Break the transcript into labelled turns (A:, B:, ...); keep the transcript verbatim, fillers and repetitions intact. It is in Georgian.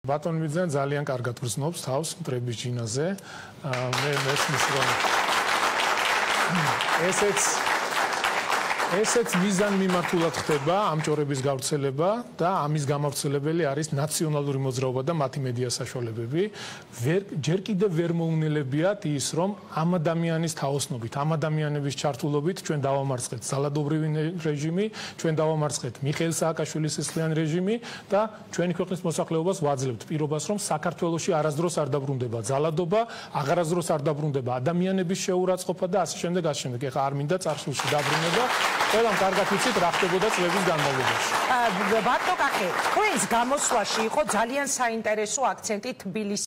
A: ბატონი მიძან ძალიან კარგად გრძნობს თავს მტრების ჯინაზე. მე მესმის რომ ესეც ესეც მიზან მიმართულად ხდება ამჭორების გავრცელება და ამის გამავრცელებელი არის ნაციონალური მოძრაობა და მათი მედია საშუალებები. ჯერ კიდევ ვერ მოუნელებიათ ის, რომ ამ ადამიანის თაოსნობით, ამ ადამიანების ჩართულობით ჩვენ დავამარცხეთ ძალადობრივი რეჟიმი, ჩვენ დავამარცხეთ მიხეილ სააკაშვილის სისხლიანი რეჟიმი და ჩვენი ქვეყნის მოსახლეობას ვაძლევთ პირობას, რომ საქართველოში არასდროს არ დაბრუნდება ძალადობა, აღარასდროს არ დაბრუნდება ადამიანების შეურაცხყოფა და ასე შემდეგ, ასე შემდეგ. ეხლა არ მინდა წარსულში დაბრუნება. ყველამ კარგად ვიცით რა ხდებოდა წლების განმავლობაში.
B: ბატონო კახე, თქვენს გამოსვლაში იყო ძალიან საინტერესო აქცენტი თბილისის